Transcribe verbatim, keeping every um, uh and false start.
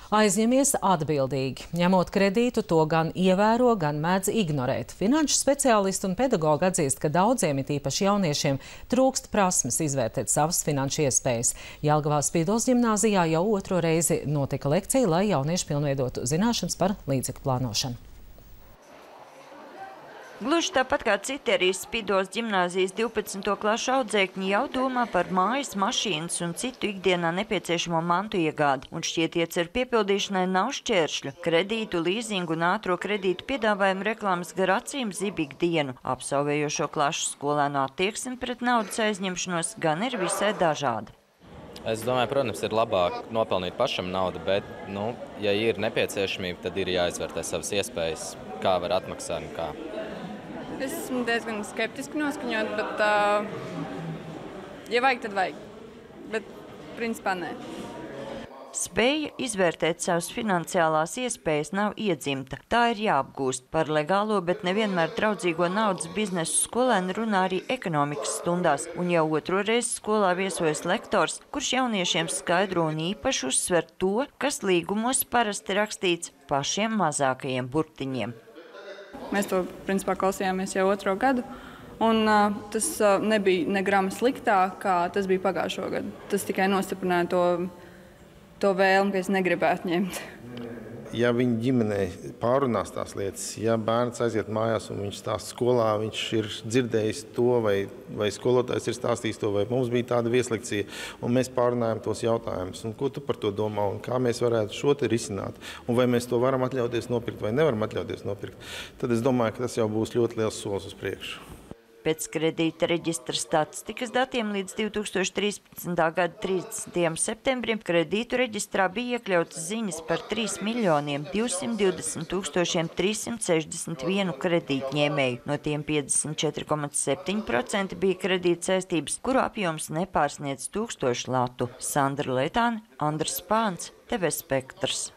Aizņemies atbildīgi. Ņemot kredītu, to gan ievēro, gan mēdz ignorēt. Finanšu speciālisti un pedagogi atzīst, ka daudziem, it īpaši jauniešiem, trūkst prasmes izvērtēt savas finanšu iespējas. Jelgavā Spīdols ģimnāzijā jau otro reizi notika lekcija, lai jaunieši pilnveidotu zināšanas par līdzekļu plānošanu. Gluži tāpat kā citi arī Spīdols ģimnāzijas divpadsmito klašu audzēkņi jau domā par mājas, mašīnas un citu ikdienā nepieciešamo mantu iegādi. Un šķiet iecer piepildīšanai nav šķēršļu. Kredītu, līzingu un ātro kredītu piedāvājumu reklāmas gar acīm zib ikdienu. Absolvējošo klašu skolēnu attieksme pret naudas aizņemšanos gan ir visai dažāda. Es domāju, protams, ir labāk nopelnīt pašam naudu, bet, nu, ja ir nepieciešamība, tad ir jāizvērtē savas iespējas, kā var atmaksāt un kā. Es esmu diezgan skeptiski noskaņot, bet, uh, ja vajag, tad vajag. Bet, principā, nē. Spēja izvērtēt savas finansiālās iespējas nav iedzimta. Tā ir jāapgūst. Par legālo, bet nevienmēr draudzīgo naudas biznesu skolēni runā arī ekonomikas stundās. Un jau otro reizi skolā viesojas lektors, kurš jauniešiem skaidro un īpaši uzsver to, kas līgumos parasti rakstīts pašiem mazākajiem burtiņiem. Mēs to, principā, klausījāmies jau otro gadu, un uh, tas uh, nebija ne grama sliktāk, kā tas bija pagājušo gadu. Tas tikai nostiprināja to, to vēlmi, ka es negribētu ņemt. Ja viņa ģimenē pārunās tās lietas, ja bērns aiziet mājās un viņš stāsta skolā, viņš ir dzirdējis to, vai, vai skolotājs ir stāstījis to, vai mums bija tāda vieslekcija, un mēs pārunājam tos jautājumus. Un ko tu par to domā, un kā mēs varētu šo te risināt, un vai mēs to varam atļauties nopirkt, vai nevaram atļauties nopirkt, tad es domāju, ka tas jau būs ļoti liels solis uz priekšu. Pēc kredīta reģistra statistikas datiem līdz divi tūkstoši trīspadsmitā gada trīsdesmitajam septembrim kredītu reģistrā bija iekļautas ziņas par trīs miljoniem divsimt divdesmit tūkstošiem trīssimt sešdesmit vienu kredītņēmēju. No tiem piecdesmit četri komats septiņi procenti bija kredīta saistības, kuru apjoms nepārsniedz tūkstošu latu. Sandra Letāne, Andrs Spāns, T V Spektrs.